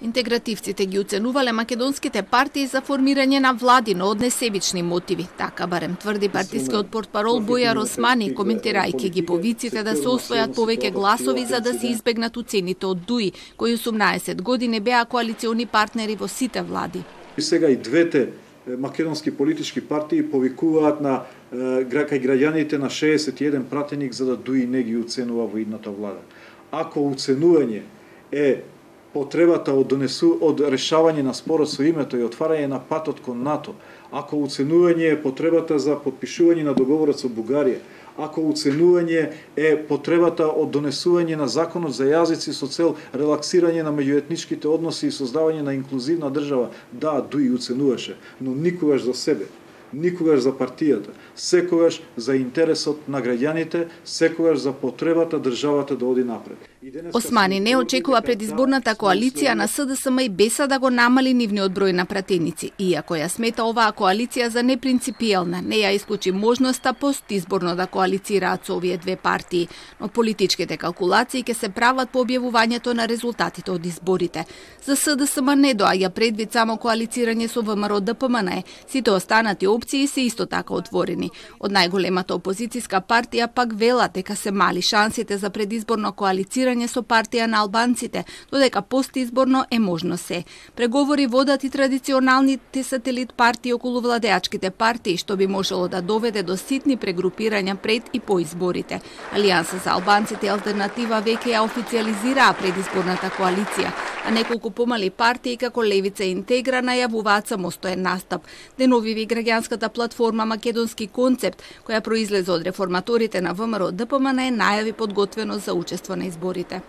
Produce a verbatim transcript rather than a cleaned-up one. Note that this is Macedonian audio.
Интегративците ги уценувале македонските партии за формирање на влади, но од несебични мотиви. Така барем тврди партискиот портпарол Бујар Османи, коментирајќи ги повиците да се освојат повеќе гласови за да се избегнат уцените од Дуи, кои осумнаесет години беа коалициони партнери во сите влади. И сега и двете македонски политички партии повикуваат на кај граѓаните на шеесет и еден пратеник за да Дуи не ги уценува во идната влада. Ако уценување е потребата од донесу од решавање на спорот со името и отварање на патот кон НАТО, ако уценување е потребата за потпишување на договорот со Бугарија, ако уценување е потребата од донесување на законот за јазици со цел релаксирање на меѓуетничките односи и создавање на инклузивна држава, да, Дуи уценуваше, но никогаш за себе, никогаш за партијата, секогаш за интересот на граѓаните, секогаш за потребата државата да оди напред. Османи не очекува предизборната коалиција на СДСМ и БЕСА да го намали нивниот број на пратеници, иако ја смета оваа коалиција за непринципиелна, не ја исклучи можноста постизборно да коалицираат со овие две партии, но политичките калкулации ќе се прават по објавувањето на резултатите од изборите. За СДСМ не доаѓа предвид само коалицирање со ВМРО ДПМН, сите останати опции се исто така отворени. Од најголемата опозицијска партија пак велат дека се мали шансите за предизборно коалицирање со партија на албанците, додека постизборно е можно се. Преговори водат и традиционалните сателит партии околу владеачките партии, што би можело да доведе до ситни прегрупирања пред и по изборите. Алијанса за албанците и Алтернатива веќе ја официализираа предизборната коалиција, а неколку помали партии како Левица и Интегра најавуваат самостоен настап. Деновиви граѓанската платформа Македонски концепт, која произлезе од реформаторите на ВМРО ДПМН, најави подготвеност за учество на изборите.